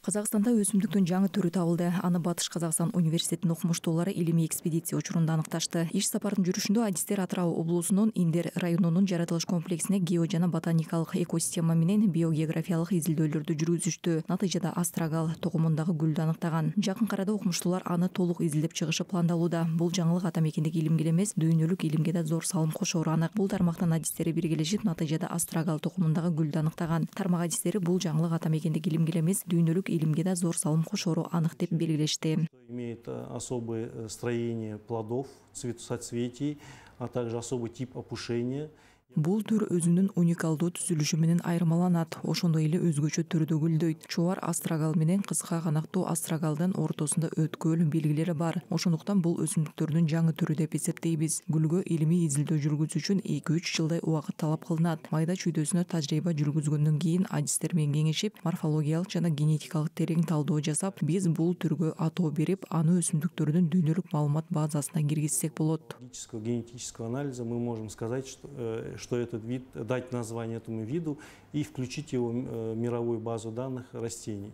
Казакстанда өсүмдүктүн жаңы түрү табылды. Аны Батыш Казакстан университетинин окумуштуулары илимий экспедиция учурунда аныкташты. Иш сапардын жүрүшүндө адистер Атырау облусунун Индер районунун жаратылыш комплексине гео жана ботаникалык экосистема менен биогеографиялык изилдөөлөрдү жүргүзүштү. Натыйжада астрагал токумундагы гүлдү аныктаган. Жакын арада окумуштуулар аны толук изилдеп чыгышы пландалууда. Бул жаңылык ата мекендеги илимге эле эмес, дүйнөлүк илимге да зор салым кошору анык. Бул тармактын адистери биргелешип, натыйжада астрагал токумундагы гүлдү аныктаган. Тармак адистери бул жаңылык ата мекендеги илимге эле эмес, дүйнөлүк илимге да зор салым кошору анык деп белгилешти. Имеет особое строение плодов, соцветий, а также особый тип опушения. Бул түр өзүнүн уникалдуу түзүлүшү менен айырмаланат. Ошондой эле өзгөчө түрдө гүлдөйт. Чубар астрагал менен кыска канаттуу астрагалдын ортосунда өткөл белгилери бар. Ошондуктан бул өсүмдүктөрдүн жаңы түрү деп эсептейбиз. Гүлгө илимий изилдөө жүргүзүү үчүн 2-3 жылдай убакыт талап кылынат. Майда чүйдөсүнө тажрыйба жүргүзгөндөн кийин адистер менен кеңешип, морфологиялык жана генетикалык терең талдоо жасап, биз бул түргө атоо берип, аны өсүмдүктөрдүн дүйнөлүк маалымат базасына киргизсек болот. Генетического анализа мы можем сказать, что этот вид, дать название этому виду и включить его в мировую базу данных растений.